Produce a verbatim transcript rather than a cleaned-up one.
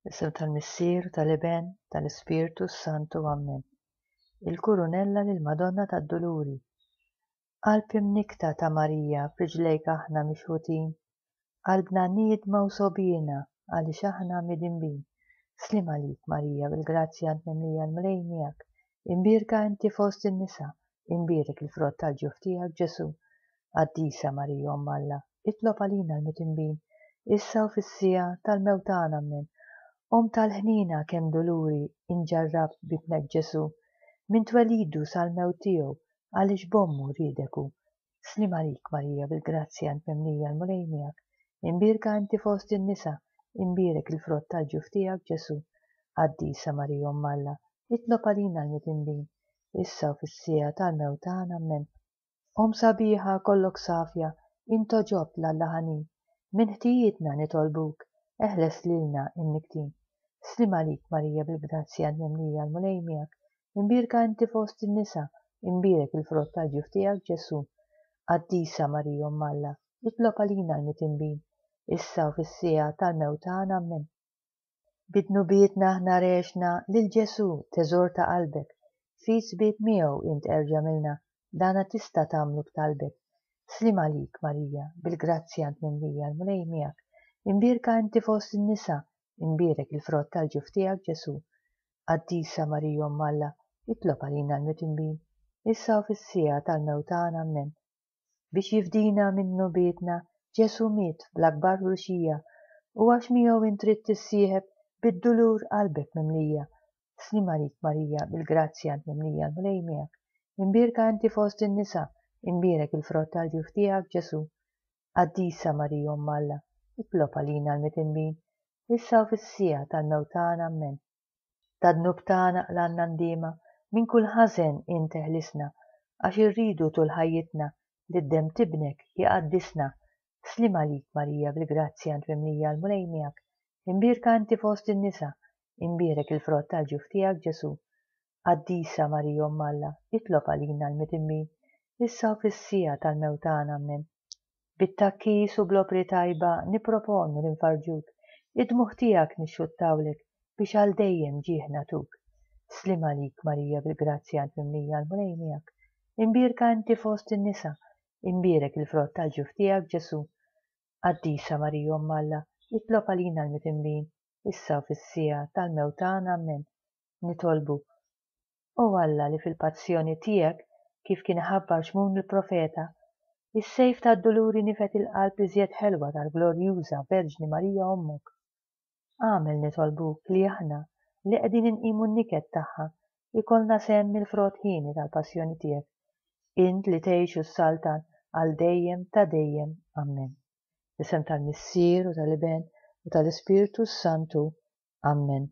Fl-isem tal-Missier, tal-Iben, tal-Ispirtu s-Santu. Ammen. Il-Kurunella lill-Madonna tad-Duluri. Qalb imnikkta ta' Marija, f'riġlejk aħna mixħutin. Qalbna niedma u sogħbiena għaliex aħna midinbin. Sliem għalik, Marija, bil-grazzja int mimlija, l-Mulej miegħek. Imbierka inti fost in-nisa, imbierek il-frott tal-ġuf tiegħek, Ġesù. Qaddisa Marija, Omm Alla, itlob għalina l-midinbin, issa u fis-siegħa tal-mewt tagħna. Ammen. Omm tal-ħniena, kemm duluri inġarrabt b'ibnek Ġesù, minn twelidu sal-mewt tiegħu, għaliex b'ommu riedek hu. Sliem għalik, Marija, bil-grazzja int mimlija, l-Mulej miegħek. Imbierka inti fost in-nisa, imbierek il-frott tal-ġuf tiegħek, Ġesù. Qaddisa Marija, Omm Alla, itlob għalina l-midinbin, issa u fis-siegħa tal-mewt tagħna. Ammen. Omm sabiħa, kollok safja, int għoġobt 'l Alla ħanin. Minn ħtijietna nitolbuk, eħles lilna imnikktin. Sliem għalik, Marija, bil-grazzja int mimlija, l-Mulej miegħek. Imbierka inti fost in-nisa, imbierek il-frott tal-ġuf tiegħek, Ġesù. Qaddisa Marija, Omm Alla, itlob għalina l-midinbin, issa u fis-siegħa tal-mewt tagħna. Ammen. Bi dnubietna aħna regħexna lil Ġesù, teżor ta' qalbek. Ftit sbiet miegħu int erġa' milna, dana tista' tagħmlu b'talbek. Sliem għalik, Marija, bil-grazzja int mimlija, l-Mulej miegħek. Imbierka inti fost in-nisa, imbierek il-frott tal-ġuf tiegħek, Ġesù. Qaddisa Marija, Omm Alla, itlob għalina l-midinbin, issa u fis-siegħa tal-mewt tagħna. Ammen. Biex jifdina minn dnubietna, Ġesù miet bl-akbar ħruxija, u għax miegħu int trid tissieħeb bid-dulur qalbek mimlija. Sliem għalik, Marija, bil-grazzja int mimlija, l-Mulej miegħek. Imbierka inti fost in-nisa, imbierek il-frott tal-ġuf tiegħek, Ġesù. Qaddisa Marija, Omm Alla, itlob għalina l-midinbin, issa u fis-siegħa tal-mewt tagħna. Ammen. Tad-dnub tagħna qlagħna ndiema, minn kull ħażen int eħlisna, għax irridu tul ħajjitna li d-demm t'ibnek jqaddisna. Sliem għalik, Marija, bil-grazzja int mimlija, l-Mulej miegħek. Imbierka inti fost in-nisa, imbierek il-frott tal-ġuf tiegħek, Ġesù. Qaddisa Marija, Omm Alla, itlob għalina l-midinbin, issa u fis-siegħa tal-mewt tagħna. Ammen. Bit-tgħakkis u bl-opri tajba nipproponu li nfarrġuk, id-dmugħ tiegħek nixxuttawlek biex għal dejjem ġieħ nagħtuk. Sliem għalik, Marija, bil-grazzja int mimlija, l-Mulej miegħek. Imbierka inti fost in-nisa, imbierek il-frott tal-ġuf tiegħek, Ġesù. Qaddisa Marija, Omm Alla, itlob għalina l-midinbin, issa u fis-siegħa tal-mewt tagħna. Ammen. Nitolbu. O Alla li fil-passjoni tiegħek, kif kien ħabbar Xmun il-profeta, is-sejf tad-duluri nifed il-qalb iżjed ħelwa tal-glorjuża Verġni Marija Ommok. Agħmel, nitolbuk, li aħna li qegħdin inqimu n-niket tagħha ikollna sehem mill-frott hieni tal-passjoni tiegħek. Int li tgħix u ssaltan għal dejjem ta' dejjem. Ammen. Fl-isem tal-Missier u tal-Iben u tal-Ispirtu s-Santu. Ammen.